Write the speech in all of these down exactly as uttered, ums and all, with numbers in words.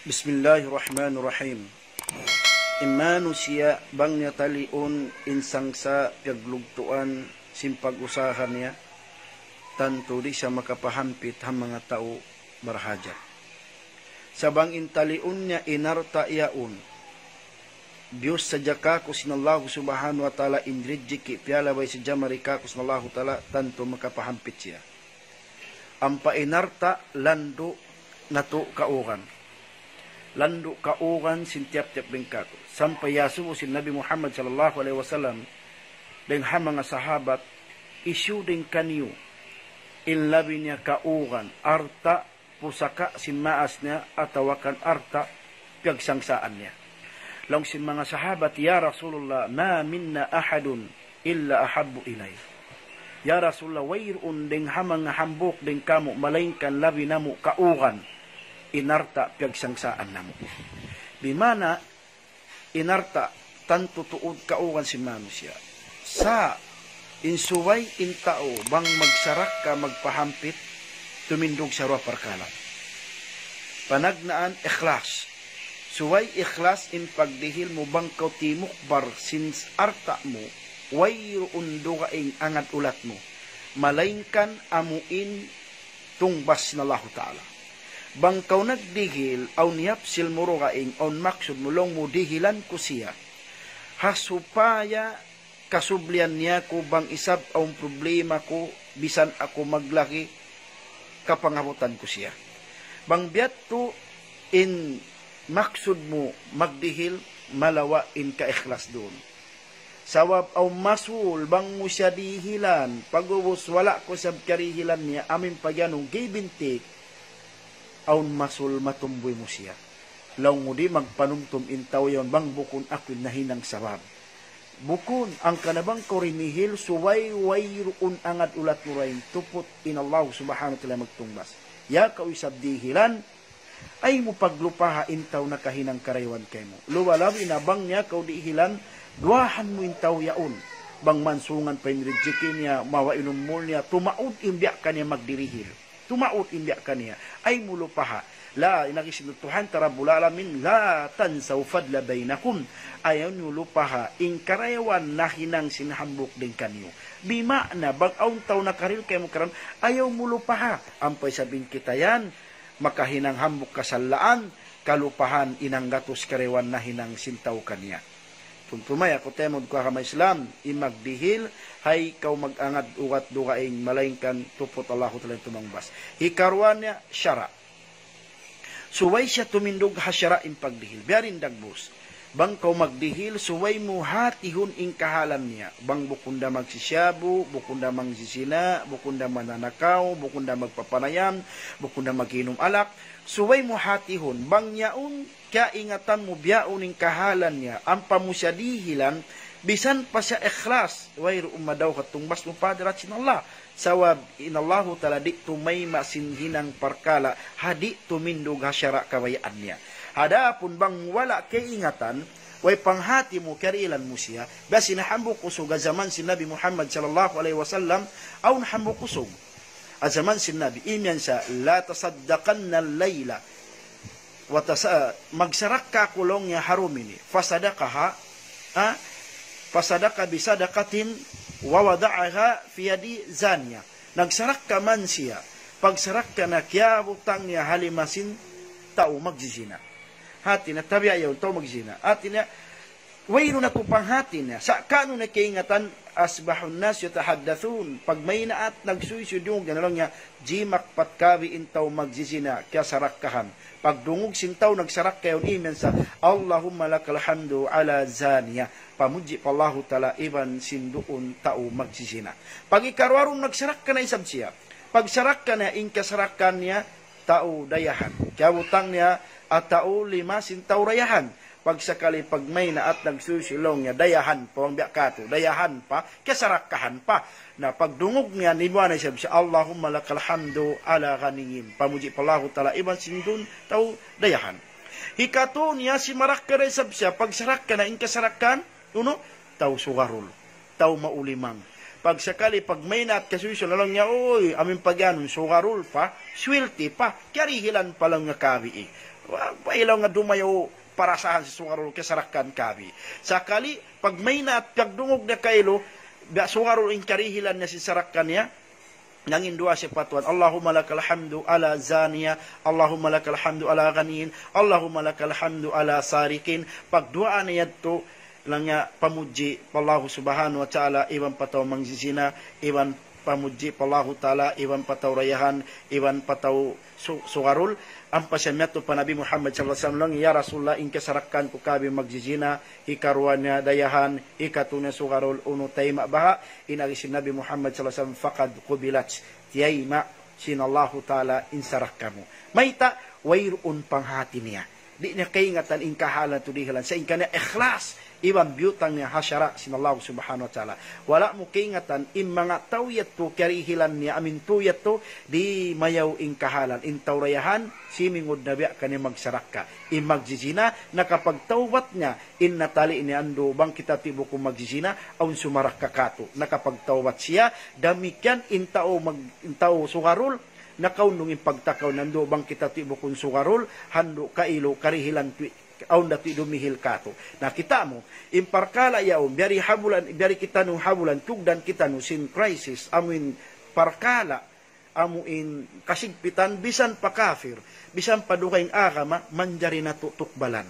Bismillahirrahmanirrahim. In manusiya' bang niya taliun in sangsa' piyaglugtuan sin pag-usaha niya, tantu di' siya makapahampit ha manga tau barhajat. Sa' bang in taliun niya in alta' yaun, biyus sadja kāku' sin Allahu Subhanahu wa Ta'ala, in rijiki' piyalabay sadja mari kāku' sin Allahu Ta'ala, tantu makapahampit siya. Ampa in alta' landu' natu' kauran. Landu' kauran sin tiyap-tiyap dayn kātu'. Sampay iyasubu sin Nabi Muhammad sallallahu alayhi wasallam dayn ha manga sahabat, hisiyu dayn kaniyu in labi niya kauran, alta', pusaka' sin maas niya, atawa kan alta' piyagsangsahan niya. Laung sin manga sahabat, "Ya Rasulullah, ma minna ahadun illa ahabbu ilayh." "Ya Rasulullah, wayruun dayn ha manga hambuuk dayn kāmu', malaingkan labi namu' kauran in alta' piyagsangsahan namu'." Bimana, in alta' tantu tuud kauran sin manusiya'. Sa' in subay in tau bang magsarakka, magpahampit, tumindug sa duwa parkala'. Panagnaan, ikhlas. Subay ikhlas in pagdihil mu bang kaw timukbal sin alta' mu, wayruun dugaing angad ulat mu. Malaingkan amu in tungbas sin Allahu Ta'ala. Bang kaw nagdihil, awn yapsil mu dugaing, awn maksud mu laung mu dihilan ku siya. Ha supaya kasublian niya ku bang isab awn problema ku, bisan aku maglagi, kapangabutan ku siya. Bang biya' tu in maksud mu magdihil, malawa' in kaikhlas duun. Sabab awn masul bang mu siya dihilan, pag'ubus wala' ku isab karihilan niya, amu in pagiyanun give and take, awn masul matumbuy mu siya. Laung mu di' magpanumtum in tau yaun bang bukun aku in nahinang sabab. Bukun, hangkan na bang kaw dimihil, subay wayruun angad ulat mu dayn, tuput in Allahu Subhanahu wa Ta'ala magtungbas. Ya kaw isab dihilan, ayaw mu paglupaha in tau nakahinang karayawan kaymu. Luba-labi na bang niya kaw dihilan, duwaahan mu in tau yaun. Bang mansungan pa in rijiki niya, mawa' in umul niya, tumaud in biya' kaniya magdirihil. Tumaud in biya' kaniya. Ayaw mu lupaha. La, in agi sin Tuhan ta Rabbul Alamin, "La tansaw fadla baynakum." Ayaw niyu lupaha in karayawan nahinang sin hambuuk dayn kaniyu. Bima'na, bang awn tau nakarihil kaymu karayawan, ayaw mu lupaha. Ampa isab in kita yan, makahinang hambuuk kasalaan, kalupahan in hanggatus karayawan nahinang sin tau kaniya. Tumtuma ya, aku taymanghud ku ha agama Islam, in magdihil, ayaw kaw mag-angad ugat dugaing, malaingkan tuput Allahu Ta'ala in tumangbas. Hikaruwa niya, sara'. Subay siya tumindug ha sara' in pagdihil. Biya' diin dagbus. Bang kaw magdihil, subay mu hatihun in kahalan niya. Bang bukun da magsisiyabu, bukun da magsisina, bukun da mananakaw, bukun da magpapanayam, bukun da mag-inum alak. Subay mu hatihun, bang yaun kaingatan mu biyaun in kahalan niya, ampa mu siya dihilan, bisan pa siya ikhlas, wayruun madawhat tungbas mu pa hadarat sin Allah. Sabab in Allahu Ta'ala di' tumayma' sin hinang parkala', ha di' tumindug ha sara' kabayaan niya. Adapun bang wala' kaingatan, way panghati mu, karihilan mu siya, biya' sin hambuuk usug ha jaman sin Nabi Muhammad sallallahu alayhi wasallam, awn hambuuk usug. Ha jaman sin Nabi, imiyan sa, "La tasaddaqanna al-layla." Wa tasa-, magsarakka aku laung niya ha dum ini. Fasadaqaha, ha? Fasadaqa bisadaqatin wa wada'aha fi yadi zaniya. Nagsarakka man siya. Pagsarakka niya kiyabutang niya ha lima sin tau magjijina. Hati niya, tabiya' yaun, tau magjijina. Hati niya, wayruun na tuud panghati niya. Sa' kunu' na kaingatan, asbahun nas yatahaddathun. Pagmaynaat, nagsuysuy dungug niya laung niya, jimakpat kabi in tau magjijina, kiyasarakkahan. Pagdungug sin tau nagsarakka yaun, imiyan sa, "Allahumma lakal hamdu ala zaniya." Pamudji pa Allahu Ta'ala iban sin duun tau magjijina. Pag ikaruwa dum nagsarakka na isab siya. Pagsarakka niya, in kasarakkahan niya, tau dayahan. Kiyabutang niya, ha tau lima sin tau dayahan. Pagsakali pagmaynaat nagsuysuy laung niya, dayahan pa, bang biya' katu', dayahan pa, kasarakkahan pa. Na pagdungug niya, nimuwa' na isab siya, "Allahumma lakal hamdu ala ghaniyyin." Pamudji pa Allahu Ta'ala, iban sin duun tau dayahan. Hikatu niya, simarakka na isab siya, pagsarakka na, in kasarakkahan, unu, tau sugarul, tau maulimang. Pag sakali, pag maynaat kasuy-suy, laung niya, "Uy, amin pag-anu, sugarol pa, swelti pa, kiyarihilan pa laung niya kabi eh. Wa, wa ilaw nga dumayaw parasahan si sugarol, kasarakan kabi." Sakali, pag maynaat, pagdungug niya kailu, biya' sugarol in karihilan niya sin sarakan niya, nangin duwaa siya pa Tuhan, "Allahumma lakal hamdu ala zaniya, Allahumma lakal hamdu ala ghaniyin, Allahumma lakal hamdu ala sarikin." Pagduwaa niya yadtu, laung niya pamudji pa Allahu Subhanahu wa Ta'ala, iban pa tau mangjizina, iban pamudji pa Allahu Ta'ala, iban pa tau dayahan, iban pa tau su-, sugarol. Ampa siya miyadtu pa Nabi Muhammad sallallahu alayhi wasallam, laung niya, "Ya Rasulullah, in kasarakan ku kabi magjizina, hikaruwa niya dayahan, hikatu niya sugarol, unu tayma' baha'?" In agi sin Nabi Muhammad sallallahu alayhi wasallam, "Faqad qubilat." Tiyayma' sin Allahu Ta'ala in sarakka mu. Mayta'? Wayruun panghati niya. Di' niya kaingatan in kahalan tu dihilan. Sa' in kaniya ikhlas, iban biyutang niya ha sara' sin Allahu Subhanahu wa Ta'ala. Wala' mu kaingatan in manga tau yadtu kiyarihilan niya amin tu yadtu, di' mayaw in kahalan. In tau dayahan, simingud na biya' kaniya magsarakka. In magjizina, nakapagtawbat niya, in natali' niya andu', bang kita ti bukun magjizina, awn sumarakka katu'. Nakapagtawbat siya, damikkiyan in tau mag-, in tau sugarol, nakaundung in pagtakaw niya andu', bang kita ti bukun sugarol, handu' kailu, karihilan ti, awn da ti dumihil katu'. Na kita' mu, in parkala' yaun, biyari ha bulan, biyari kitaniyu ha bulan, tiyugdan kitaniyu sin crisis, amu in parkala', amu in kasigpitan, bisan pa kafir, bisan pa dugaing agama, manjari natu' tukbalan.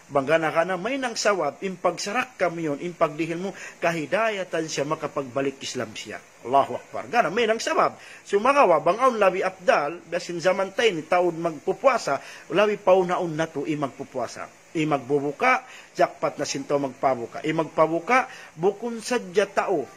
Bang gana-gana, mahinang sabab, in pagsarakka mu yaun, in pagdihil mu, kahidayatan siya makapagbalik Islam siya. Allahu Akbar. Gana, mahinang sabab. Sumagawa', bang awn labi afdal, biya' sin jaman ta ini, taud magpupuasa, labi paunahun natu' in magpupuasa. In magbubuka, jackpot na sin tau magpabuka. In magpabuka, bukun sadja tau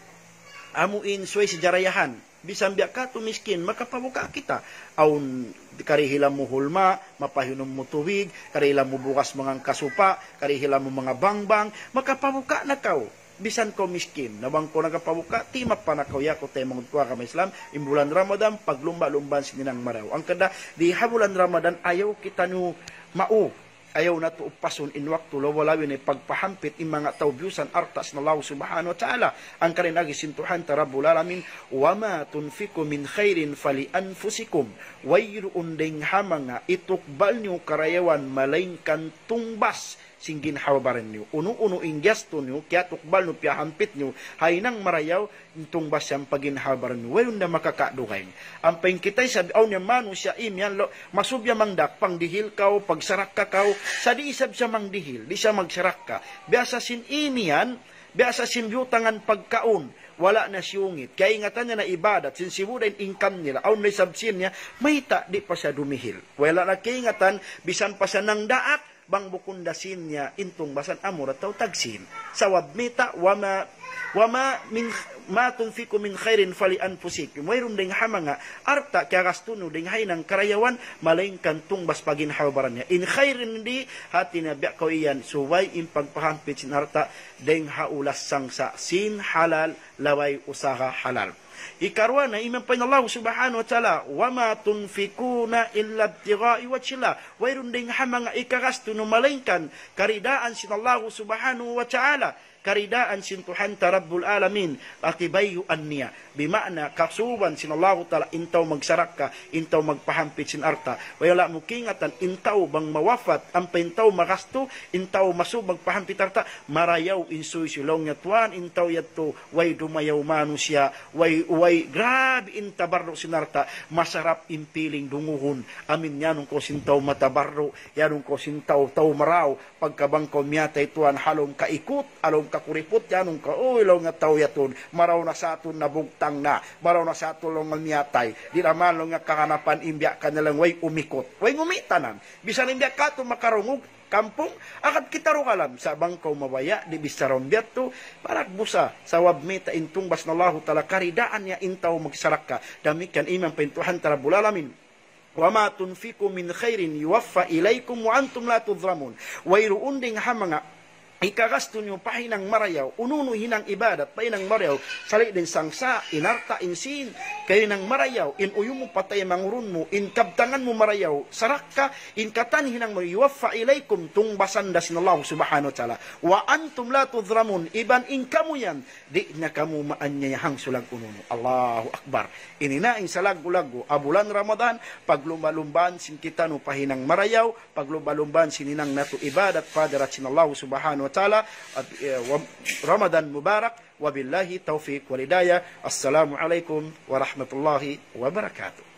amu in subay sadja dayahan. Bisan biya' katu' miskin, makapabuka kita. Awn karihilan mu hulma, mapahinum mu tubig, karihilan mu bugas mangan kasupa, karihilan mu manga bangbang, makapabuka na kaw. Bisan kaw miskin, na bang kaw nakapabuka, timappa na kaw, ya kaw taymanghud ku ha agama Islam, in bulan Ramadan, paglumba'-lumbaan sin hinang marayaw. Hangkan di ha bulan Ramadan, ayaw kitaniyu mau, ayaw natu' upasun in waktu, labi-labi na in pagpahampit in manga tau biyusan alta' sin Allah Subhanahu wa Ta'ala. Hangkan in agi sin Tuhan ta Rabbul Alamin, "Wa ma tunfiqu min khairin fali anfusikum." Wayruun dayng ha manga itukbal niyu karayawan malaingkan tungbas sin ginhawa-baran niyu. Unu-unu in gastu niyu, kiyatukbal niyu, piyahampit niyu ha hinang marayaw, in tungbas yan pa ginhawa-baran niyu. Wayruun da makakadugaing. Ampa in kita isab, awn niya manusiya' imiyan, laung, masubiya mangdak, pangdihil kaw, pagsarakka kaw, sa' di' isab siya mangdihil, di' siya magsarakka. Biya' sa sin imiyan, biya' sa sin biyutangan pagkaun, wala' na siyungit. Kaingatan niya na ibadat, sin sibu' da in income nila, awn na isab sin niya, mayta' di' pa siya dumihil. Wala' na kaingatan, bisan pa siya nangdaak, bang bukun da sin niya in tungbasan, amura tau tagsin. Sabab mayta', "Wa ma, wa ma min, ma tunfiqu min khairin fali anfusikum." Wayruun dayng ha manga alta' kiyagastu niyu dayng ha hinang karayawan, malaingkan tungbas pa ginhawa-baran niya. In khairin di', hati niya biya' kaw iyan, subay in pagpahampit sin alta' dayng ha ulas sangsa' sin halal, labay usaha halal. Hikaruwa na, iman pa in Allah Subhanahu wa Ta'ala, "Wa ma tunfiquna illa ibtigha'a wajhillah." Wayruun dayng ha manga ikagastu niyu malaingkan karidaan sin Allah Subhanahu wa Ta'ala, karidaan sin Tuhan ta Rabbul Alamin, ati bayuan niya. Bima'na, kasuban sin Allah Ta'ala, in tau magsarakka, in tau magpahampit sin alta'. Wala' mu kaingatan, in tau bang mawafat, ampa in tau magastu, in tau masub magpahampit alta', marayaw in suysuy, laung niya, "Tuwan, in tau yadtu, way dumayaw manusiya', way, way, grabe in tabarru' sin alta', masarap in piling dungugun." Amin, iyanun kaw sin tau matabarru', iyanun kaw sin tau, tau marayaw, pagka bang kaw miyatay tuwan ha lawm kaikut, ha lawm kakuriput, iyanun kaw, "Uy," laung niya, "tau yatun, marayaw na sa atun nabugtang na, marayaw na sa atun," laung niya, "miyatay. Di' na man," laung niya, "kaganapan in biya' kaniya laung way umikut, way ngumitanan." Bisan in biya' katu' makarungug, kampung, agad kita dugaing, sa' bang kaw mabaya', di' bichara biya' tu, paragbusa, sabab mayta', in tungbas sin Allahu Ta'ala, karidaan niya in tau magsarakka. Damikkiyan iman pa in Tuhan ta Rabbul Alamin. "Wa ma tunfiqu min khairin yuwaffa ilaykum wa antum la tudhlamun." Wayruun dayng ha manga hikagastu niyu pa hinang marayaw, unu-unu hinang ibadat pa hinang marayaw, sali' dayn sangsa', in alta', in sīn, kay hinang marayaw, in uyum mu pa taymanghud mu, in kabtangan mu marayaw, sarakka, in katan hinang mu, يوفى إليكم, tungbasan da sin Allah subhanahu wa ta'ala. وأنتم لا تظلمون, iban in kamu yan, di' niya kamu maanyaya hangsulag unu-unu. Allahu Akbar. Ini na in salaggu'-laggu' ha bulan Ramadan, paglumba-lumbaan sin kitaniyu pa hinang marayaw, paglumba-lumbaan sin hinang natu' ibadat pa hadarat sin Allah subhanahu wa ta'ala, at, eh, wa-, Ramadan Mubarak, وبالله التوفيق والهداية. السلام عليكم ورحمة الله وبركاته.